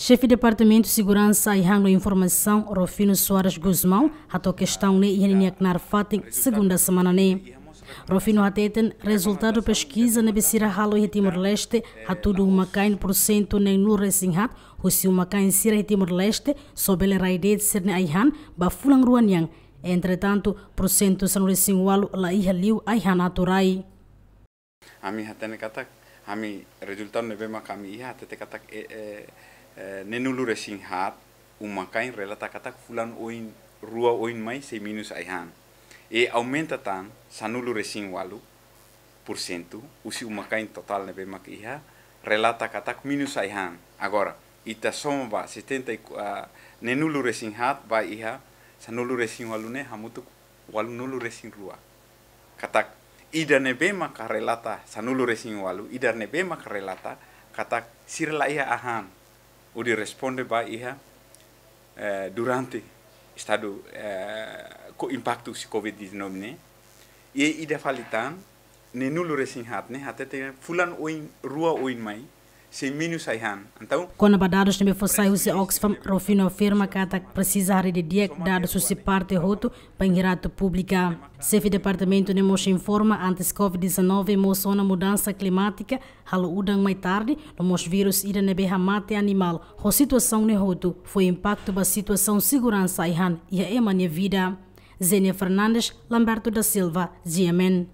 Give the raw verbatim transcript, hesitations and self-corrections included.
Xefe Departamentu Seguransa Ai-han no Informasaun, Rufino Soares Gusmão, hato'o kestaun ne'e iha ninia knaar fatin, segunda semana ne'e. Rufino hateten, rezultadu peskiza ne'ebé sira halo iha Timor-Leste, hatudu uma-kain pursentu neenulu-resin-haat husi uma-kain sira iha Timor-Leste só bele rai de'it sira-nia ai-han ba fulan rua nian. Entretantu, pursentu sanulu-resin-ualu la iha liu ai-han atu rai. Ami hatene katak, ami rezultadu ne'ebé mak ami iha, hatete katak, e, e, e, neenulu-resin-haat uma-kain relata katak fulan oin, rua oin mai sei menus ai-han. I aumenta tan sanulu-resin-ualu-pursentu husi uma-kain totál ne'ebé mak iha, relata katak menus ai-han. Agora, ita soma ba setenta e, ah, neenulu-resin-haat ba iha sanulu-resin-ualu ne'e hamutuk ualunulu-resin-rua. Katak ida ne'ebé maka relata sanulu-resin-ualu, ida ne'ebé maka relata katak sira la iha ai-han, hodi responde ba iha, eh, durante estadu, eh, ho impaktu husi covid dezanove ne'e. I ida fali tan, neenulu-resin-haat ne'e hatete fulan oin, rua oin mai sei menus ai-han. Entaun, kona-ba dadus ne'ebé fó sai husi Oxfam, Rufino afirma katak presiza haree didi'ak dadus husi parte hotu bainhira atu publika. Xefe departamentu ne'e mós informa, antes covid dezanove mós ona mudansa klimátika, halo udan mai tarde, no mós vírus ida ne'ebé hamate animál. Ho situasaun ne'e hotu fó impaktu ba situasaun seguransa ai-han iha ema nia vida. Zenia Fernandes, Lamberto da Silva, G M N.